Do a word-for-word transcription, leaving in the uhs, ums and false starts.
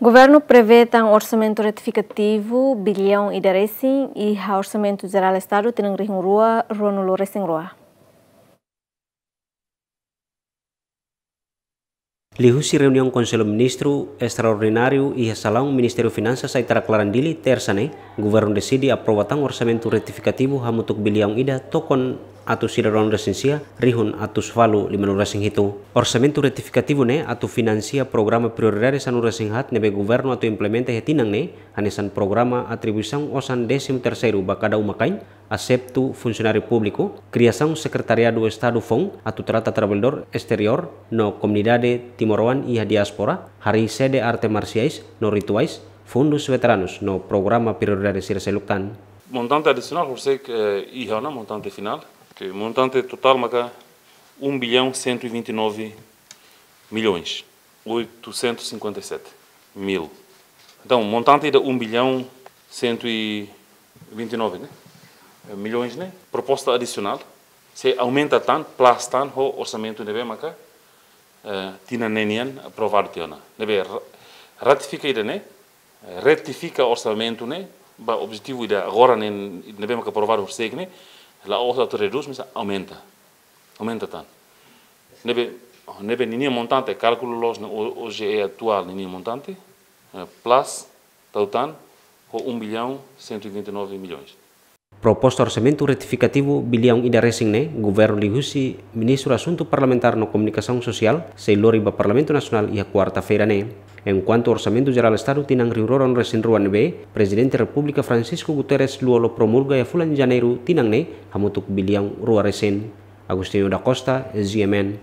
Governu prevee tan orsamentu retifikativu biliaun ida resin iha Orsamentu Jerál Estadu tinan rihun rua, ruanulu resin rua. Liuhusi reuniaun Konsellu Ministru estraordináriu iha salaun Ministériu Finansas Aitarak Laran Dili, Tersa ne'e, Governu deside aprova tan orsamentu retifikativu hamutuk biliaun ida tokon atus ida ruanulu resin sia, rihun atus ualu limanulu resin hitu. Orsamentu retifikativu ne'e atu finansia programa prioridade sanulu resin haat ne'ebé Governu atu implementa iha tinan ne'e, hanesan programa atribuisaun osan désimu terseiru ba kada uma-kain, aseptu funsionáriu públiku, kriasaun Sekretariadu Estadu foun atu trata traballadór esteriór no komunidade timoroan iha diáspora, harii sede arte marsiais no rituais, fundus veteranus no programa prioridade sira seluk tan. Montante adisionál, por ser que, eh, iha ona montante finál, que montante totál maka um bilhão cento e vinte e nove milhões oitocentos e cinquenta e sete mil. Entaun, montante ida um bilhão cento e vinte e nove, né? Milhões, né? Proposta adisionál, sei aumenta tan, plus tan, ho orsamentu ne'ebé maka, eh, tinan ne'e nian aprovadu tiha ona. Ne'ebé ra-, ratifika ida-ne'e, eh, retifika orsamentu ne'e, ba objetivu ida agora ne'e, ne'ebé maka aprovadu horisehik ne'e, la'ós atu redús, mas aumenta. Aumenta tan. Ne'ebé, ne'ebé ninia montante, kálkulu loos ne'e, O-, OGE atuál ninia montante, eh, plus, tau tan, ho um bilhão cento e vinte e nove milhões. Proposta orsamentu retifikativu biliaun ida resin ne'e, Governu liuhusi Ministru Asuntu Parlamentár no Komunikasaun Sosiál, sei lori ba Parlamentu Nasionál iha kuarta-feira ne'e. Enkuantu Orsamentu Jerál Estadu tinan rihun rua ruanulu resin rua ne'ebé, Prezidente Repúblika Francisco Guterres Lú Olo promulga iha fulan Janeiru tinan ne'e, hamutuk biliaun rua resin. Agostinho da Costa, G M N.